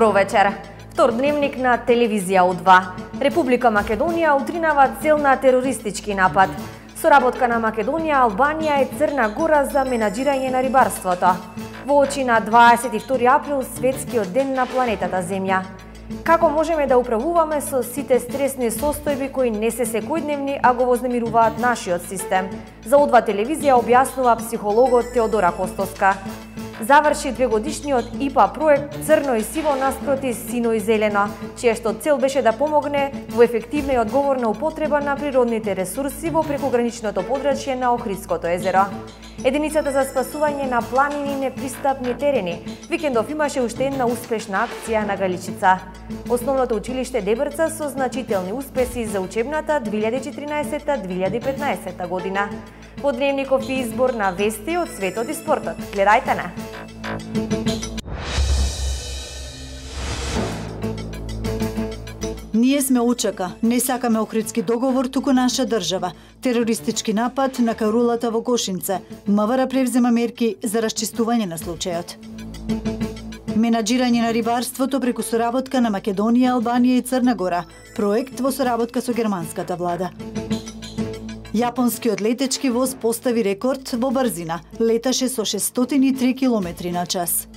Добро вечер. Втор дневник на телевизија У2. Република Македонија утринава цел на терористички напад. Соработка на Македонија, Албанија и Црна Гора за менаџирање на рибарството. Во очи на 22 април, светскиот ден на планетата Земја. Како можеме да управуваме со сите стресни состојби кои не се секојдневни, а го вознемируваат нашиот систем? За У2 телевизија објаснува психологот Теодора Костоска. Заврши 2-годишниот ИПА проект Црно и сиво наспроти сино и зелено, чија што цел беше да помогне во ефективна и одговорна употреба на природните ресурси во прекограничното подрачје на Охридското езеро. Единицата за спасување на планини и непристапни терени викендов имаше уште една успешна акција на Галичица. Основното училиште Дебрца со значителни успеси за учебната 2014-2015 година. Во дневников и избор на вести од светот и спортот. Гледајте на! Ние сме УЧК, не сакаме Охридски договор, туку наша држава. Терористички напад на карулата во Гошинце. МВР превзема мерки за расчистување на случајот. Менаџирање на рибарството преку соработка на Македонија, Албанија и Црна Гора. Проект во соработка со германската влада. Јапонскиот летечки воз постави рекорд во брзина. Леташе со 603 км на час.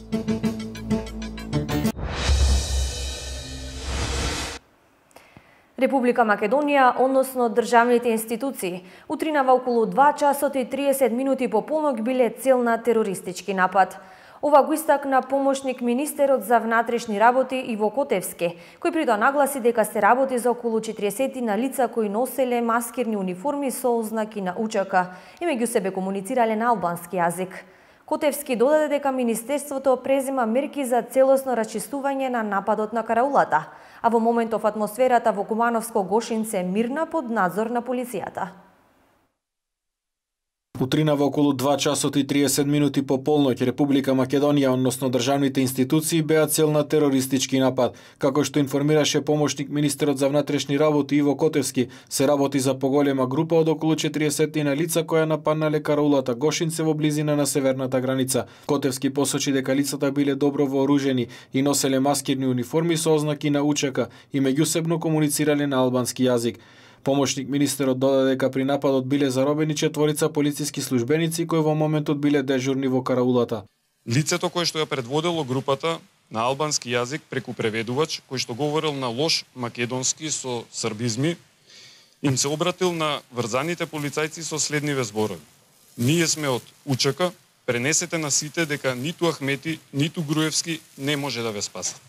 Република Македонија, односно државните институции, утринава околу 2 часот и 30 минути по полнок биле цел на терористички напад. Ова го истакна помошник министерот за внатрешни работи Иво Котевски, кој притоа нагласи дека се работи за околу 40 на лица кои носеле маскирни униформи со ознаки на УЧК и меѓу себе комуницирале на албански јазик. Котевски додаде дека Министерството презема мерки за целосно расчистување на нападот на караулата, а во моментов атмосферата во Кумановско Гошинце е мирна под надзор на полицијата. Утринава околу 2 часот и 30 минути по полноќ Република Македонија, односно државните институции, беа цел на терористички напад. Како што информираше помошник министерот за внатрешни работи Иво Котевски, се работи за поголема група од околу 40 на лица која нападнале караулата Гошинце во близина на северната граница. Котевски посочи дека лицата биле добро вооружени и носеле маскирни униформи со ознаки на УЧК и меѓусебно комуницирале на албански јазик. Помошник министерот додаде дека при нападот биле заробени 4 полициски службеници кои во моментот биле дежурни во караулата. Лицето кое што ја предводело групата на албански јазик преку преведувач, кој што говорил на лош македонски со србизми, им се обратил на врзаните полицајци со следниве зборови. Ние сме од УЧК, пренесете на сите дека ниту Ахмети, ниту Груевски не може да ве спасат.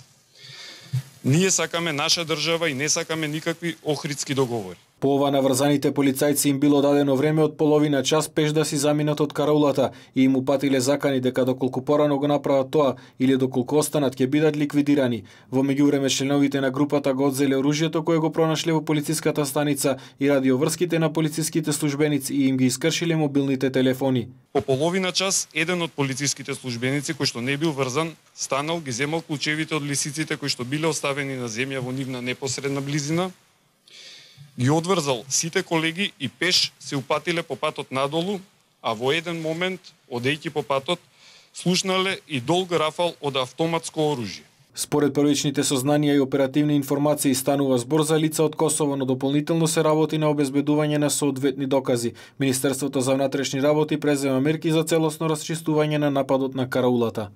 Ние сакаме наша држава и не сакаме никакви охридски договори. По ова на врзаните полицајци им било дадено време од половина час пеш да си заминат од караулата и им упатиле закани дека доколку порано го направат тоа или доколку останат ќе бидат ликвидирани. Во меѓувреме членовите на групата го одзеле оружјето кое го пронашле во полициската станица и радиоврските на полициските службеници и им ги искршиле мобилните телефони. По половина час еден од полициските службеници кој што не бил врзан станал, ги земал клучевите од лисиците кои што биле оставени на земја во нивна непосредна близина, ги одврзал сите колеги и пеш се упатиле по патот надолу, а во еден момент, одејќи по патот, слушнале и долг рафал од автоматско оружје. Според првичните сознанија и оперативни информации станува збор за лица од Косово, но дополнително се работи на обезбедување на соодветни докази. Министерството за внатрешни работи презема мерки за целосно расчистување на нападот на караулата.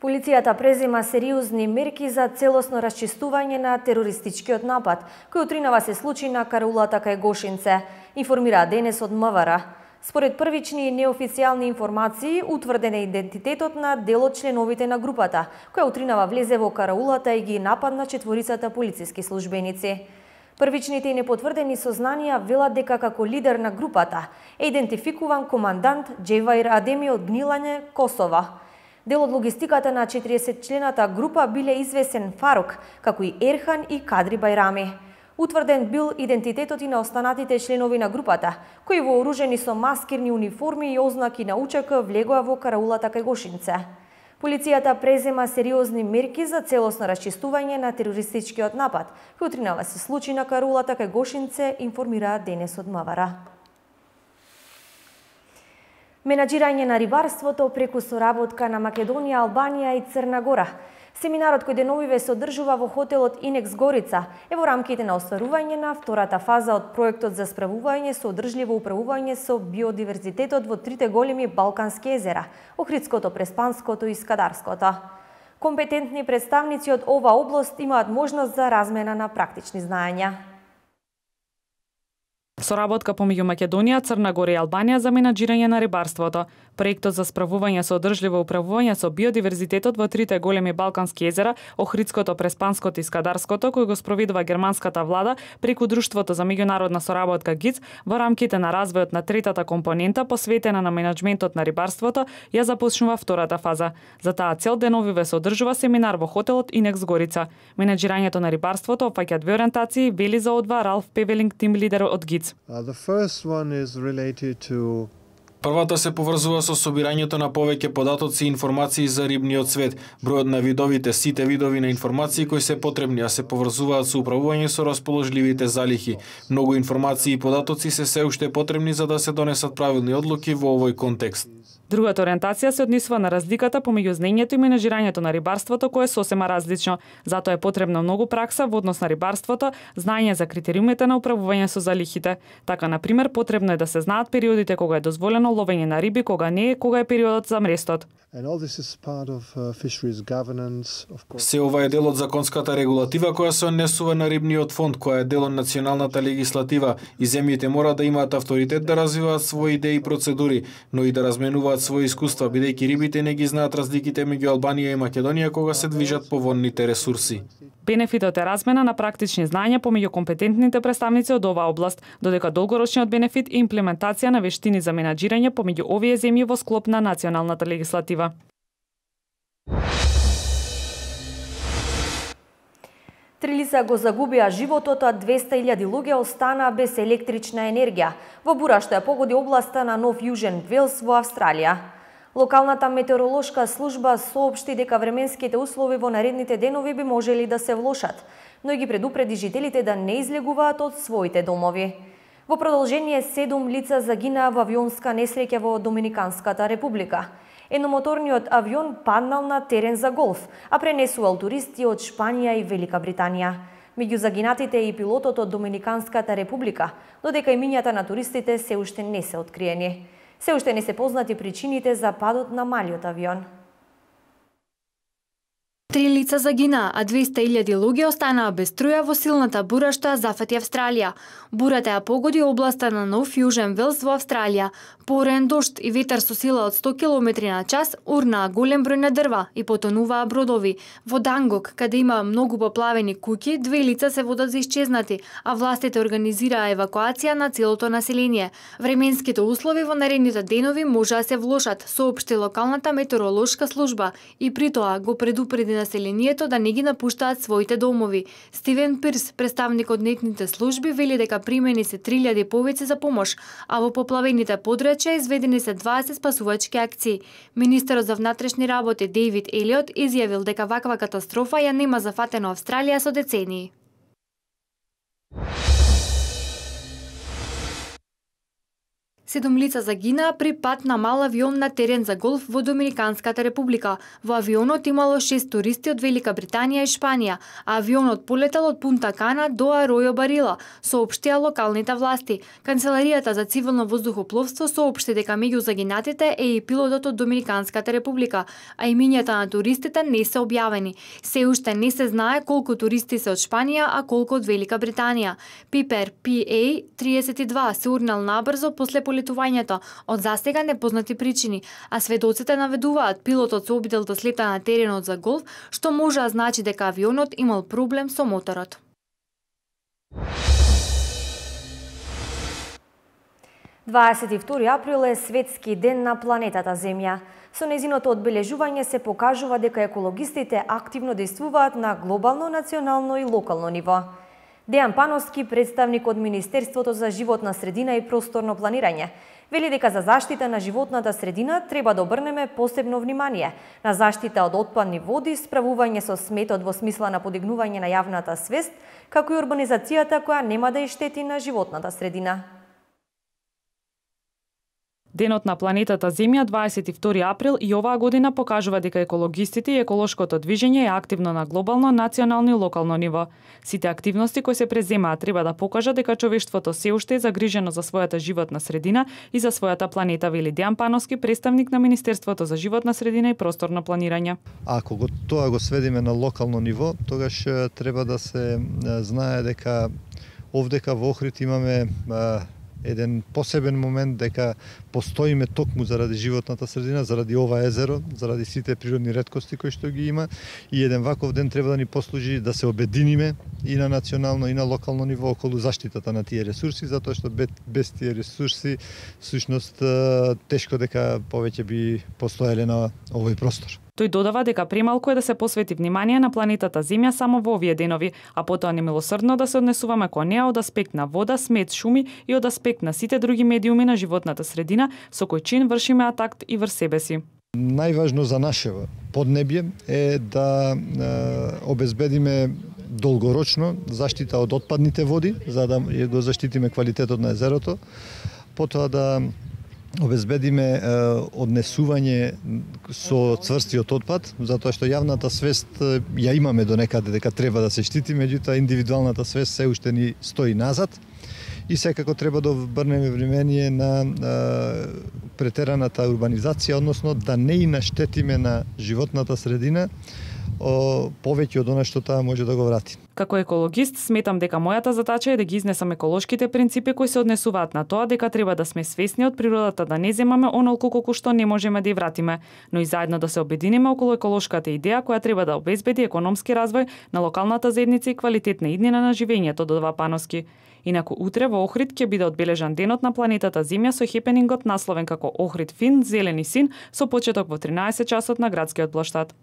Полицијата презема сериозни мерки за целосно расчистување на терористичкиот напад, кој утринава се случи на караулата кај Гошинце, информира денес од МВР. Според првични и неофицијални информации, утврден е идентитетот на дел од членовите на групата, која утринава влезе во караулата и ги нападна 4 полициски службеници. Првичните и непотврдени сознанија велат дека како лидер на групата е идентификуван командант Джеваир Адеми од Гнилање, Косова. Дел од логистиката на 40-члената група биле известен Фарук, како и Ерхан и Кадри Байрами. Утврден бил идентитетот и на останатите членови на групата, кои вооружени со маскирни униформи и ознаки на УЧК влегоа во караулата кај Гошинце. Полицијата презема сериозни мерки за целосно расчистување на терористичкиот напад, кој утринава се случи на караулата кај Гошинце, информира денес од МВР. Менаџирање на рибарството преку соработка на Македонија, Албанија и Црна Гора. Семинарот кој деновиве се одржува во хотелот Инекс Горица е во рамките на остварување на втората фаза од проектот за справување со одржливо управување со биодиверзитетот во трите големи балкански езера – Охридското, Преспанското и Скадарското. Компетентни представници од ова област имаат можност за размена на практични знаења. Соработка помеѓу Македонија, Црна Гора и Албанија за менаџирање на рибарството. Проектот за справување со одржливо управување со биодиверзитетот во трите големи балкански езера, Охридското, Преспанското и Скадарското, кој го спроведува германската влада преку Друштвото за меѓународна соработка ГИЦ во рамките на развојот на третата компонента посветена на менаџментот на рибарството, ја започнува втората фаза. За таа цел деновиве се одржува семинар во хотелот Инекс Горица. Менаџирањето на рибарството опфаќа две ориентации, вели за одва Ралф Певелинг, тим лидер од ГИЦ. Првата се поврзува со собирањето на повеќе податоци и информации за рибниот свет, бројот на видовите, сите видови на информации кои се потребни, а се поврзуваат со управување со расположливите залихи. Многу информации и податоци се уште потребни за да се донесат правилни одлуки во овој контекст. Другата ориентација се однесува на разликата помеѓу знаењето и менаџирањето на рибарството, кое е сосема различно. Затоа е потребно многу пракса во однос на рибарството, знаење за критериумите на управување со залихите. Така, на пример, потребно е да се знаат периодите кога е дозволено ловење на риби, кога не е, кога е периодот за мрестот. Се ова е дел од законската регулатива која се однесува на рибниот фонд, која е дел од националната легислатива и земјите мора да имаат авторитет да развиваат своји идеи и процедури, но и да разменуваат своји искуства, бидејќи рибите не ги знаат разликите меѓу Албанија и Македонија кога се движат по водните ресурси. Бенефитот е размена на практични знаења помеѓу компетентните представници од оваа област, додека долгорочниот бенефит е имплементација на вештини за менаџирање помеѓу овие земји во склоп на националната легислатива. Три лица го загубија животот, а 200.000 луѓе останаа без електрична енергија во бура што ја погоди областа на Нов Јужен Велс во Австралија. Локалната метеоролошка служба соопшти дека временските услови во наредните денови би можели да се влошат, но и ги предупреди жителите да не излегуваат од своите домови. Во продолжение 7 лица загинаа во авионска несреќа во Доминиканската република. Едномоторниот авион паднал на терен за голф, а пренесувал туристи од Шпанија и Велика Британија. Меѓу загинатите е и пилотот од Доминиканската република, додека имињата на туристите се уште не се откриени. Се уште не се познати причините за падот на малиот авион. 3 лица загинаа, а 200.000 луѓе останаа без струја во силната бура што ја зафати Австралија. Бурата ја погоди областа на Нов Јужен Велс во Австралија. Порен дожд и ветар со сила од 100 км на час урнаа голем број на дрва и потонуваа бродови. Во Дангок, каде има многу поплавени куќи, 2 лица се водат за исчезнати, а властите организираа евакуација на целото население. Временските услови во наредните денови можеа да се влошат, соопшти локалната метеоролошка служба и притоа го предупреди населението да не ги напуштаат своите домови. Стивен Пирс, представник од нетните служби, вели дека примени се 3000 повици за помош, а во поплавените подрачја изведени се 20 спасувачки акции. Министерот за внатрешни работи Дейвид Елиот изјавил дека ваква катастрофа ја нема зафатено Австралија со децении. Седум лица загинаа при пад на мал авион на терен за голф во Доминиканската република. Во авионот имало 6 туристи од Велика Британија и Шпанија, а авионот полетал од Пунта Кана до Аројо Барила, соопштија локалните власти. Канцеларијата за цивилно воздухопловство соопшти дека меѓу загинатите е и пилотот од Доминиканската република, а имињата на туристите не се објавени. Се уште не се знае колку туристи се од Шпанија, а колку од Велика Британија. Пипер PA-32 се урнал набрзо после полетувањето од засега непознати причини, а сведоците наведуваат пилотот се обидел да слета на теренот за голф, што може да значи дека авионот имал проблем со моторот. –22 април е светски ден на планетата Земја. Со незиното одбележување се покажува дека екологистите активно действуваат на глобално, национално и локално ниво. Дејан Пановски, представник од Министерството за животна средина и просторно планирање, вели дека за заштита на животната средина треба да обрнеме посебно внимание на заштита од отпадни води, справување со сметот во смисла на подигнување на јавната свест, како и урбанизацијата која нема да ја штети на животната средина. Денот на планетата Земја 22 април и оваа година покажува дека екологистите и еколошкото движење е активно на глобално, национално и локално ниво. Сите активности кои се преземаат треба да покажат дека човештвото се уште е загрижено за својата животна средина и за својата планета, вели Дејан Пановски, представник на Министерството за животна средина и просторно планирање. Ако тоа го сведиме на локално ниво, тогаш треба да се знае дека овдека во Охрид имаме еден посебен момент дека постоиме токму заради животната средина, заради ова езеро, заради сите природни реткости кои што ги има, и еден ваков ден треба да ни послужи да се обединиме и на национално и на локално ниво околу заштитата на тие ресурси, затоа што без тие ресурси всушност тешко дека повеќе би постоеле на овој простор. Тој додава дека премалку е да се посвети внимание на планетата Земја само во овие денови, а потоа немилосрдно да се однесуваме кон неа од аспект на вода, смет, шуми и од аспект на сите други медиуми на животната средина, со кој чин вршиме атак и врз себе си. Најважно за нашето поднебје е да обезбедиме долгорочно заштита од отпадните води, за да го заштитиме квалитетот на езерото, потоа да обезбедиме однесување со цврстиот отпад, затоа што јавната свест ја имаме до некаде дека треба да се штити, меѓутоа индивидуалната свест се уште ни стои назад и секако треба да обрнеме внимание на претераната урбанизација, односно да не и наштетиме на животната средина повеќе од она што таа може да го врати. Како екологист, сметам дека мојата задача е да ги изнесам еколошките принципи кои се однесуваат на тоа дека треба да сме свесни од природата, да не земаме онолку колку што не можеме да ја вратиме, но и заедно да се обединиме околу еколошката идеја која треба да обезбеди економски развој на локалната заедница и квалитетна иднина на живењето, додава Пановски. Инаку утре во Охрид ќе биде одбележан денот на планетата Земја со хепенингот насловен како Охрид Фин, Зелени син, со почеток во 13 часот на градскиот плоштад.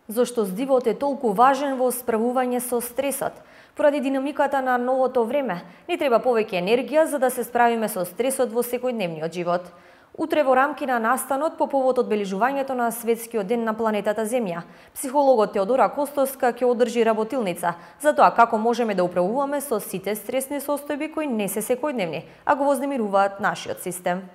Зошто здивот е толку важен во справување со стресот? Поради динамиката на новото време, ни треба повеќе енергија за да се справиме со стресот во секојдневниот живот. Утре во рамки на настанот по повод одбележувањето на Светскиот ден на планетата Земја, психологот Теодора Костовска ќе одржи работилница за тоа како можеме да управуваме со сите стресни состојби кои не се секојдневни, а го вознемируваат нашиот систем.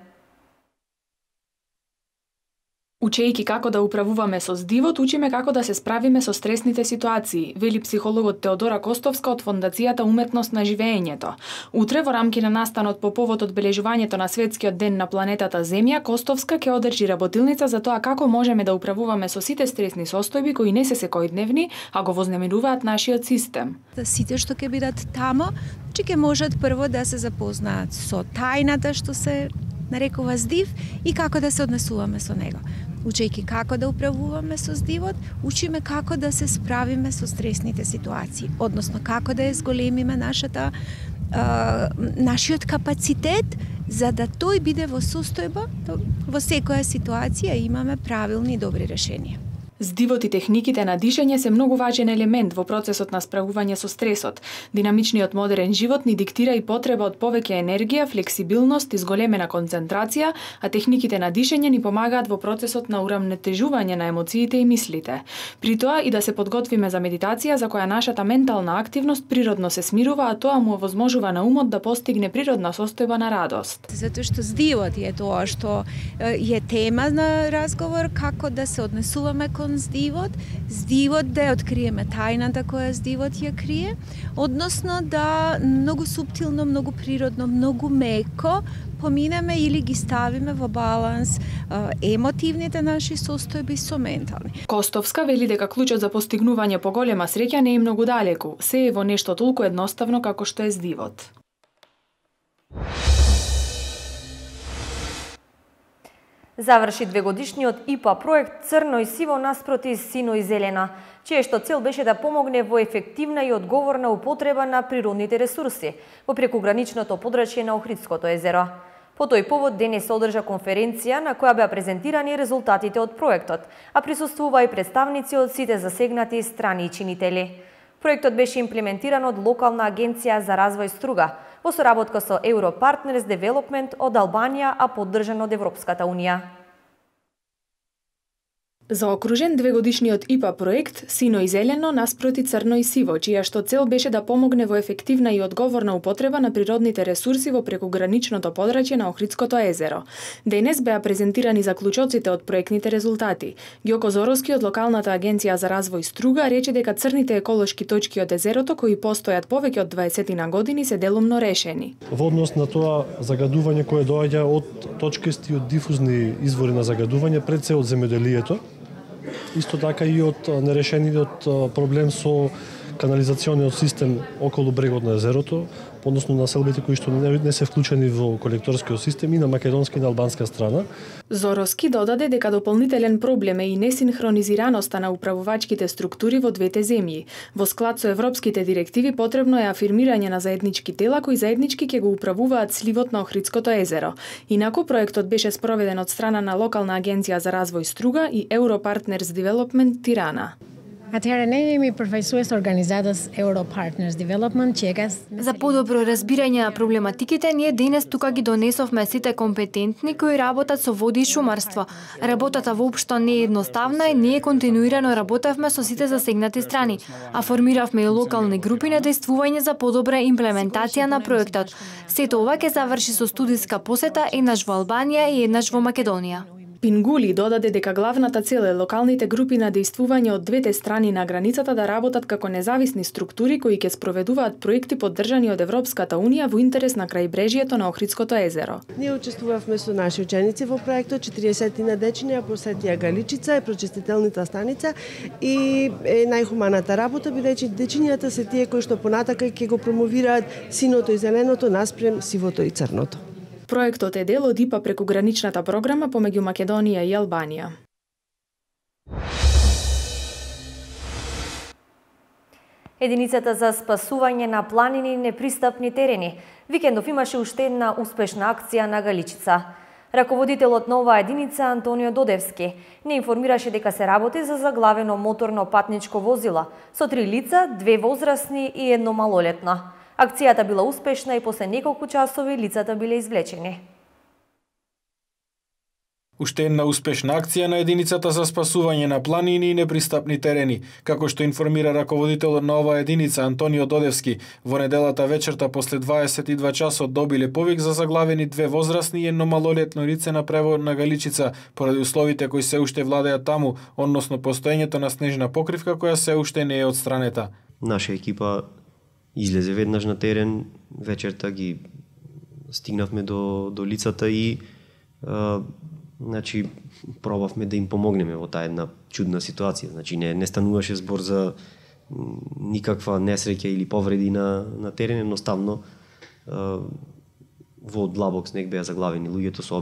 Учејќи како да управуваме со здивот, учиме како да се справиме со стресните ситуации, вели психологот Теодора Костовска од Фондацијата Уметност на живеењето. Утре во рамки на настанот по повод одбележувањето на Светскиот ден на планетата Земја, Костовска ќе одржи работилница за тоа како можеме да управуваме со сите стресни состојби кои не се секојдневни, а го вознемируваат нашиот систем. Сите што ќе бидат тамо, ќе можат прво да се запознаат со тајната што се нарекува здив и како да се однесуваме со него. Учејќи како да управуваме со здивот, учиме како да се справиме со стресните ситуации, односно како да зголемиме нашиот капацитет за да тој биде во состојба во секоја ситуација имаме правилни и добри решенија. Здивот и техниките на дишење се многу важен елемент во процесот на справување со стресот. Динамичниот модерен живот ни диктира и потреба од повеќе енергија, флексибилност и зголемена концентрација, а техниките на дишење ни помагаат во процесот на урамнетежување на емоциите и мислите. При тоа и да се подготвиме за медитација за која нашата ментална активност природно се смирува, а тоа му овозможува на умот да постигне природна состојба на радост. Затоа што здивот е тоа што е тема на разговор, како да се однесуваме кон здивот да ја откриеме тајната која здивот ја крие, односно да многу суптилно, многу природно, многу меко поминеме или ги ставиме во баланс емотивните наши состојби со ментални. Костовска вели дека клучот за постигнување поголема среќа не е многу далеку, се е во нешто толку едноставно како што е здивот. Заврши 2-годишниот ИПА проект Црно и сиво наспроти сино и зелена, чие што цел беше да помогне во ефективна и одговорна употреба на природните ресурси во прекуграничното подрачје на Охридското езеро. По тој повод денес се одржа конференција на која беа презентирани резултатите од проектот, а присуствува и представници од сите засегнати страни и чинители. Проектот беше имплементиран од локална агенција за развој Струга, во соработка со Europartners Development од Албанија, а поддржан од Европската Унија. Заокружен двегодишниот ИПА проект Сино и зелено наспроти црно и сиво, чија што цел беше да помогне во ефективна и одговорна употреба на природните ресурси во прекуграничното подрачје на Охридското езеро. Денес беа презентирани заклучоците од проектните резултати. Ѓоко Зоровски од локалната агенција за развој Струга рече дека црните еколошки точки од езерото кои постојат повеќе од 20 на години се делумно решени. Во однос на тоа загадување кое доаѓа од точкасти од дифузни извори на загадување пред се од земјоделието, исто така и од нерешениот проблем со канализациониот систем околу брегот на езерото, односно населбите кои што не се вклучени во колекторскиот систем и на македонска и на албанска страна. Зоровски додаде дека дополнителен проблем е и несинхронизираноста на управувачките структури во двете земји. Во склад со европските директиви потребно е афирмирање на заеднички тела кои заеднички ќе го управуваат сливот на Охридското езеро. Инаку проектот беше спроведен од страна на локална агенција за развој Струга и Europartners Development Тирана. Atëherë ne jemi përfaqësues organizatës Europartners Development Çekas. За подобро разбирање на проблематиките, ние денес тука ги донесовме сите компетентни кои работат со води и шумарство. Работата воопшто не е едноставна и ние континуирано работевме со сите засегнати страни, а формиравме и локални групи на действување за подобра имплементација на проектот. Сето ова ќе заврши со студиска посета еднаш во Албанија и еднаш во Македонија. Пингули додаде дека главната цел е локалните групи на действување од двете страни на границата да работат како независни структури кои ќе спроведуваат проекти поддржани од Европската унија во интерес на крајбрежјето на Охридското езеро. Ние учествувавме со наши ученици во проектот, 40 на дечиња посетија Галичица, прочистителната станица и најхуманата работа бидејќи дечињата се тие кои што понатака ќе го промовираат синото и зеленото наспрем сивото и црното. Проектот е дел од ИПА прекуграничната програма помеѓу Македонија и Албанија. Единицата за спасување на планини и непристапни терени. Викендов имаше уште една успешна акција на Галичица. Раководителот на оваа единица Антонио Додевски не информираше дека се работи за заглавено моторно патничко возило со 3 лица, 2 возрастни и 1 малолетно. Акцијата била успешна и после неколку часови лицата биле извлечени. Уште една успешна акција на единицата за спасување на планини и непристапни терени, како што информира раководителот на оваа единица Антонио Додевски. Во неделата вечерта после 22 часот добиле повик за заглавени 2 возрастни и 1 малолетно лице на превод на Галичица поради условите кои се уште владеат таму, односно постоењето на снежна покривка која се уште не е отстранета. Наша екипа излезе веднаш на терен, вечерта ги стигнавме до лицата и значи пробавме да им помогнеме во таа една чудна ситуација. Значи не стануваше збор за никаква несреќа или повреди на терен, едноставно во длабок снег беа заглавени луѓето со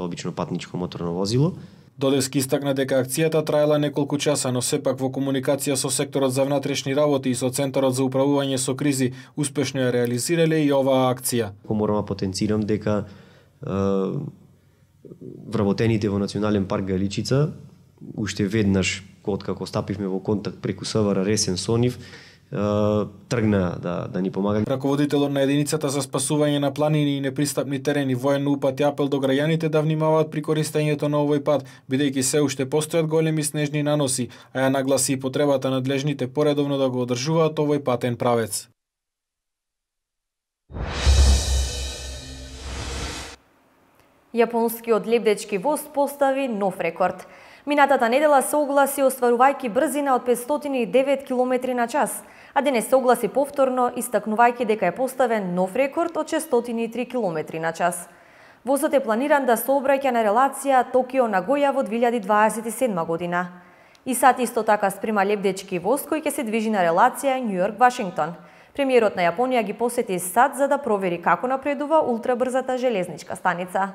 обично патничко моторно возило. Додевски истакна дека акцијата траела неколку часа, но сепак во комуникација со секторот за внатрешни работи и со Центарот за управување со кризи успешно ја реализирале и оваа акција. Морам да потенцирам дека вработените во Национален парк Галичица уште веднаш откако стапивме во контакт преку СВР Ресен со нив тргна да ни помагаат. Раководителот на единицата за спасување на планини и непристапни терени военно упати апел до граѓаните да внимаваат при користењето на овој пат, бидејќи се уште постојат големи снежни наноси, а ја нагласи и потребата надлежните поредовно да го одржуваат овој патен правец. Јапонскиот лебдечки воз постави нов рекорд. Минатата недела се огласи остварувајќи брзина од 509 км на час, а денес се огласи повторно истакнувајќи дека е поставен нов рекорд од 603 км на час. Возот е планиран да сообраќа на релација Токио-Нагоја во 2027 година. И сад исто така спрема лебдечки воз кој ќе се движи на релација Њујорк-Вашингтон. Премиерот на Јапонија ги посети сад за да провери како напредува ултрабрзата железничка станица.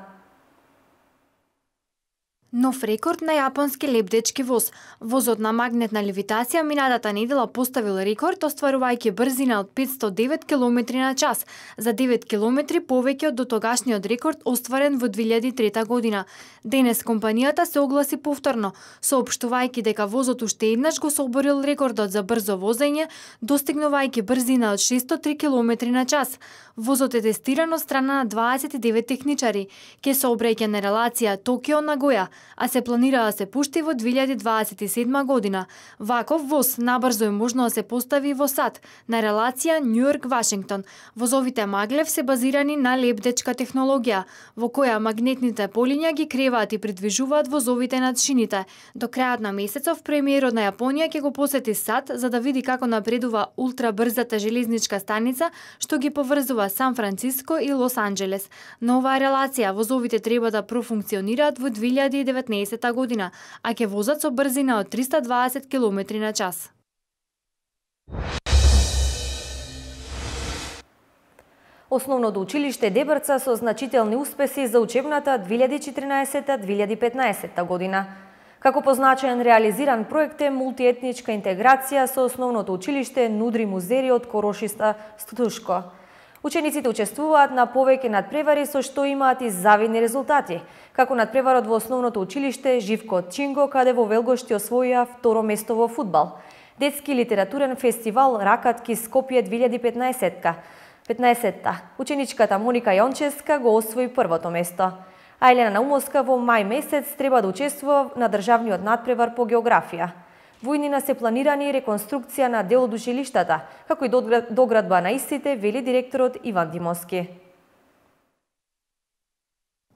Нов рекорд на јапонски лебдечки воз. Возот на магнетна левитација минатата недела поставил рекорд остварувајќи брзина од 509 км на час, за 9 км повеќе од дотогашниот рекорд остварен во 2003 година. Денес компанијата се огласи повторно, соопштувајќи дека возот уште еднаш го соборил рекордот за брзо возење, достигнувајќи брзина од 603 км на час. Возот е тестиран од страна на 29 техничари. Ке сообраќа на релација Токио-Нагоја, а се планира да се пушти во 2027 година. Ваков воз набрзо е можно да се постави во САД на релација Њујорк-Вашингтон. Возовите Маглев се базирани на лебдечка технологија, во која магнетните полиња ги креваат и придвижуваат возовите над шините. До крајот на месецов премиерот на Јапонија ќе го посети САД за да види како напредува ултрабрзата железничка станица што ги поврзува Сан Франциско и Лос Анџелес. На оваа релација возовите треба да профункционираат во 2019 година, а ќе возат со брзина од 320 км на час. Основното училиште Дебрца со значителни успеси за учебната 2014-2015 година. Како позначен реализиран проект е мултиетничка интеграција со основното училиште Нудри Музери од Корошиста Студушко. Учениците учествуваат на повеќе надпревари со што имаат и завидни резултати, како надпреварот во основното училиште Живко Чинго, каде во Велгошти освоија второ место во фудбал. Детски литературен фестивал Ракатки Скопје 2015-та. Ученичката Моника Јонческа го освои првото место. А Елена Наумовска во мај месец треба да учествува на државниот надпревар по географија. Во иднина се планирани реконструкција на дел од училиштата, како и доградба на истите, вели директорот Иван Димовски.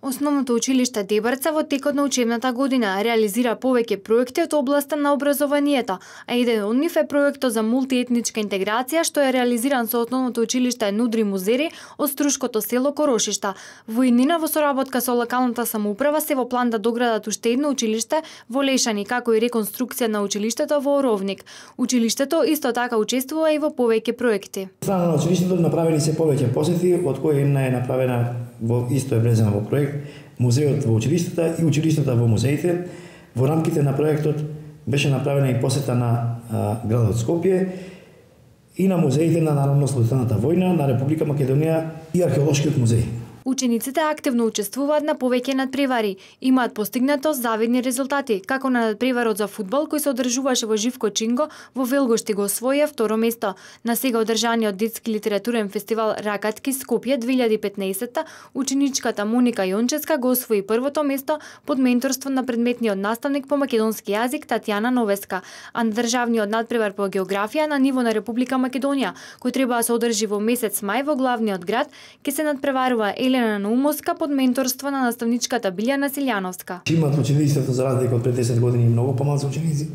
Основното училиште Дебрца во текот на учебната година реализира повеќе проекти од областа на образованието, а еден од нив е проектот за мултиетничка интеграција што е реализиран со основното училиште Нудри Музери од Струшкото село Корошишта. Во иднина во соработка со локалната самоуправа се во план да доградат уште едно училиште во Лешани, како и реконструкција на училиштето во Оровник. Училиштето исто така учествува и во повеќе проекти. Страна на училиштето направени се повеќе посети, од кои една е направена во исто е влезена во проект музеот во училиштата и училиштата во музеите. Во рамките на проектот беше направена и посета на градот Скопје и на музеите на Народно-ослободителната војна, на Република Македонија и археолошкиот музеј. Учениците активно учествуваат на повеќе надпревари, имаат постигнато завидни резултати, како на надпреварот за фудбал кој се одржуваше во Живко Чинго во Велгошти го освоија второ место. На сега одржаниот детски литературен фестивал Ракатки Скопје 2015, ученичката Моника Јонческа го освои првото место под менторство на предметниот наставник по македонски јазик Татјана Новеска, а на државниот надпревар по географија на ниво на Република Македонија, кој треба да се одржи во месец мај во главниот град, ќе се надпреварува Елена Наумовска под менторство на наставничката Билјана Силјановска. Имат училиштето за разлика од пред 10 години многу помалку ученици,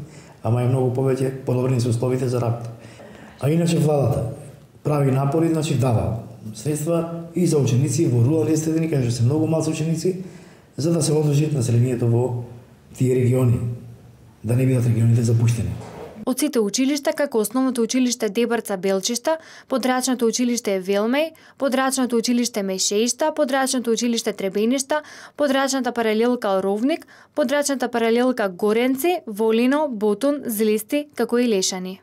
ама и многу повеќе подобрени се условите за работа. А иначе владата прави напори, дава средства и за ученици во рурални средини, каде се многу малку ученици, за да се одржи населението во тие региони, да не бидат регионите запуштени. Од сите училишта, како основното училиште Дебрца Белчишта, подрачното училиште Велмеј, подрачното училиште Мешеишта, подрачното училиште Требеништа, подрачната паралелка Ровник, подрачната паралелка Горенци, Волино, Ботун, Злисти, како и Лешани.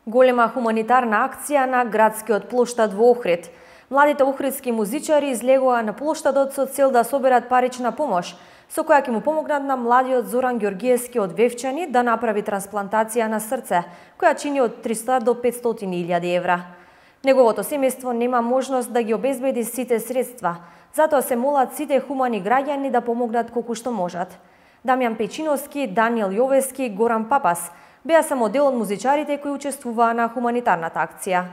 Голема хуманитарна акција на градскиот плоштад во Охрид. Младите охридски музичари излегоа на плоштадот со цел да соберат парична помош, со која ќе му помогнат на младиот Зоран Ѓоргиевски од Вевчани да направи трансплантација на срце, која чини од 300 до 500.000 евра. Неговото семејство нема можност да ги обезбеди сите средства, затоа се молат сите хумани граѓани да помогнат колку што можат. Дамјан Печиновски, Даниел Јовески, Горан Папас беа само дел од музичарите кои учествуваа на хуманитарната акција.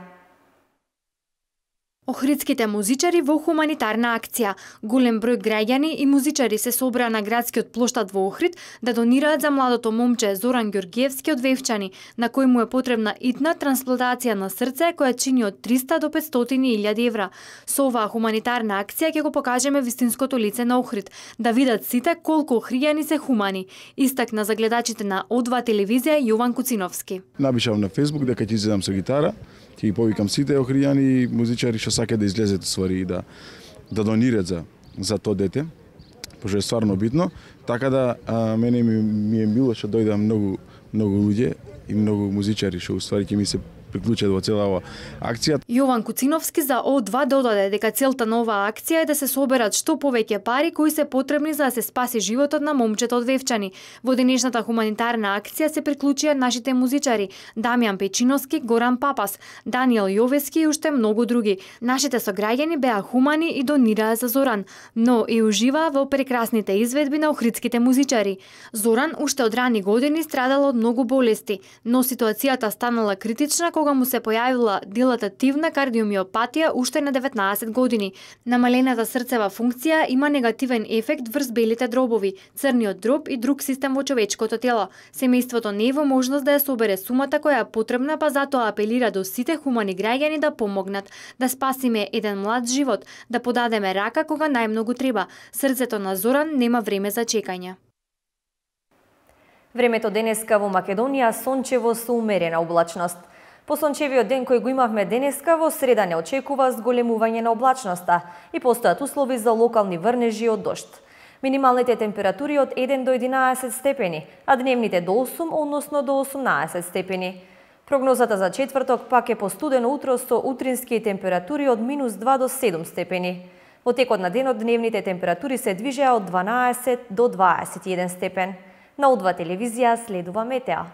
Охридските музичари во хуманитарна акција. Голем број граѓани и музичари се собраа на градскиот плоштад во Охрид да донираат за младото момче Зоран Ѓоргиевски од Вевчани, на кој му е потребна итна трансплантација на срце која чини од 300 до 500.000 евра. Со оваа хуманитарна акција ќе го покажеме вистинското лице на Охрид, да видат сите колку охријани се хумани, истакна за гледачите на О2 телевизија Јован Куциновски. Напишав на Facebook дека ќе излезам со гитара, ќе ги повикам сите охријани музичари што сакаат да излезат ствари и да донират за тоа дете, пошто е стварно битно. Така да мене ми е мило што дојдат многу луѓе и многу музичари што уствари ќе ми се приклучат во цела оваа акција. Јован Куциновски за О2 додаде дека целта на оваа акција е да се соберат што повеќе пари кои се потребни за да се спаси животот на момчето од Вевчани. Во денешната хуманитарна акција се приклучија нашите музичари Дамјан Печиновски, Горан Папас, Даниел Јовески и уште многу други. Нашите сограѓани беа хумани и донираа за Зоран, но и уживаа во прекрасните изведби на охридските музичари. Зоран уште од рани години страдал од многу болести, но ситуацијата станала критична кога му се појавила дилатативна кардиомиопатија уште на 19 години. Намалената срцева функција има негативен ефект врз белите дробови, црниот дроб и друг систем во човечкото тело. Семејството не е во можност да ја собере сумата која е потребна, па затоа апелира до сите хумани граѓани да помогнат, да спасиме еден млад живот, да подадеме рака кога најмногу треба. Срцето на Зоран нема време за чекање. Времето денеска во Македонија сончево со умерена облачност. По сончевиот ден кој го имавме денеска, во среда не очекува зголемување на облачноста и постојат услови за локални врнежи од дожд. Минималните температури од 1 до 11 степени, а дневните до 8, односно до 18 степени. Прогнозата за четврток пак е постудено утро со утрински температури од -2 до 7 степени. Во текот на денот дневните температури се движеа од 12 до 21 степен. На О2 телевизија следува метеа.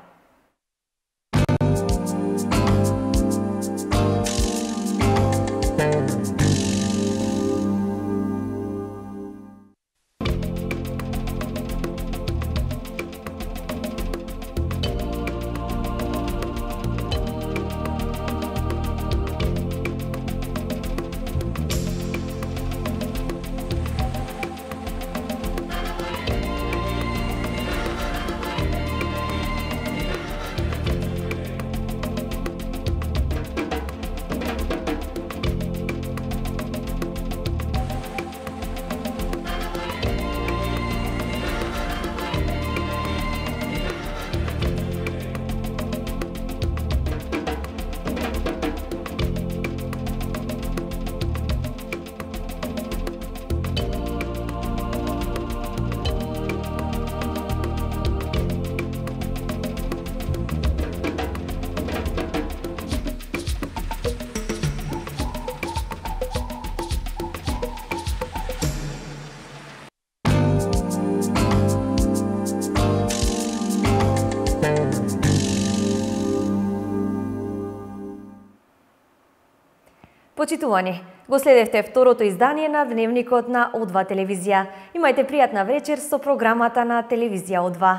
Почитувани, го следевте второто издание на Дневникот на О2 телевизија. Имајте пријатна вечер со програмата на телевизија О2.